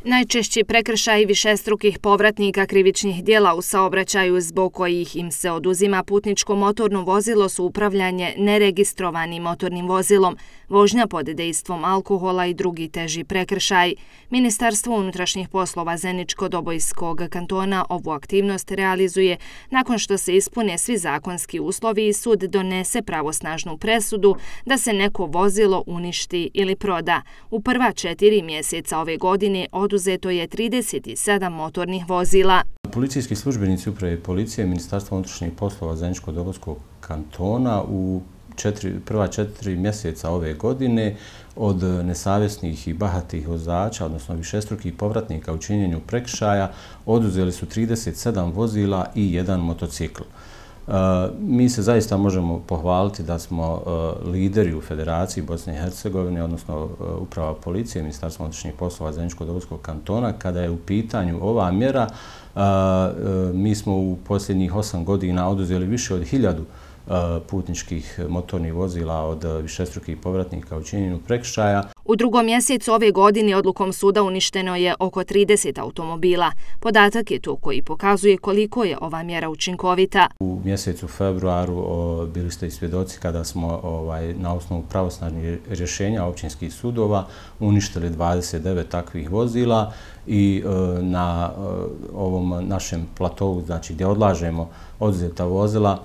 Najčešći prekršaji višestrukih povratnika krivičnih djela u saobraćaju zbog kojih im se oduzima putničko motorno vozilo su upravljanje neregistrovanim motornim vozilom, vožnja pod dejstvom alkohola i drugi teži prekršaj. Ministarstvo unutrašnjih poslova Zeničko-Dobojskog kantona ovu aktivnost realizuje nakon što se ispune svi zakonski uslovi i sud donese pravosnažnu presudu da se neko vozilo uništi ili proda. U prva 4 mjeseca ove godine oduzeto je 37 motornih vozila. Policijski službenici uprave policije Ministarstva unutrašnjih poslova Zeničko-Dobojskog kantona u prva 4 mjeseca ove godine od nesavjesnih i bahatih vozača, odnosno višestrukih povratnika u činjenju prekršaja, oduzeli su 37 vozila i 1 motocikl. Mi se zaista možemo pohvaliti da smo lideri u Federaciji Bosne i Hercegovine, odnosno uprava policije Ministarstva unutrašnjih poslova Zeničko-Dobojskog kantona. Kada je u pitanju ova mjera, mi smo u posljednjih 8 godina oduzeli više od 1000 putničkih motornih vozila od višestrukih povratnika u činjenju prekršaja. U drugom mjesecu ove godine odlukom suda uništeno je oko 30 automobila. Podatak je to koji pokazuje koliko je ova mjera učinkovita. U mjesecu februaru bili ste i svjedoci kada smo na osnovu pravosnažnih rješenja općinskih sudova uništili 29 takvih vozila i na ovom našem platovu, znači gdje odlažemo oduzeta vozila,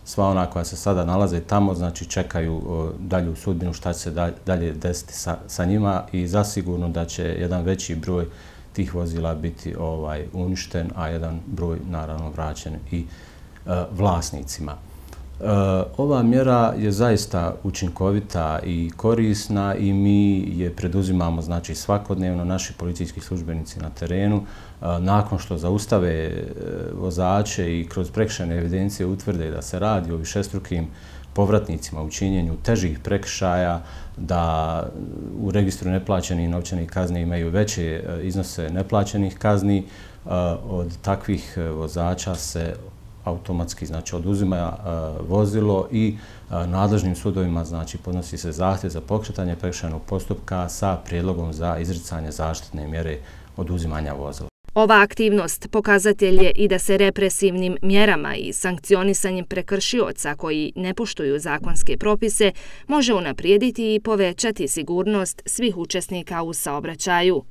sva ona koja se sada nalaze tamo, znači čekaju dalju sudbinu šta će se dalje desiti sa njima i zasigurno da će jedan veći broj tih vozila biti uništen, a jedan broj naravno vraćen i vlasnicima. Ova mjera je zaista učinkovita i korisna i mi je preduzimamo znači svakodnevno, naši policijski službenici na terenu. Nakon što zaustave vozače i kroz prekršajne evidencije utvrde da se radi o višestrukim povratnicima u činjenju težih prekršaja, da u registru neplaćenih novčanih kazni imaju veće iznose neplaćenih kazni, od takvih vozača se automatski znači oduzima vozilo i nadležnim sudovima znači podnosi se zahtjev za pokretanje prekršajnog postupka sa prijedlogom za izricanje zaštitne mjere oduzimanja vozila. Ova aktivnost pokazatelj je i da se represivnim mjerama i sankcionisanjem prekršioca koji ne poštuju zakonske propise može unaprijediti i povećati sigurnost svih učesnika u saobraćaju.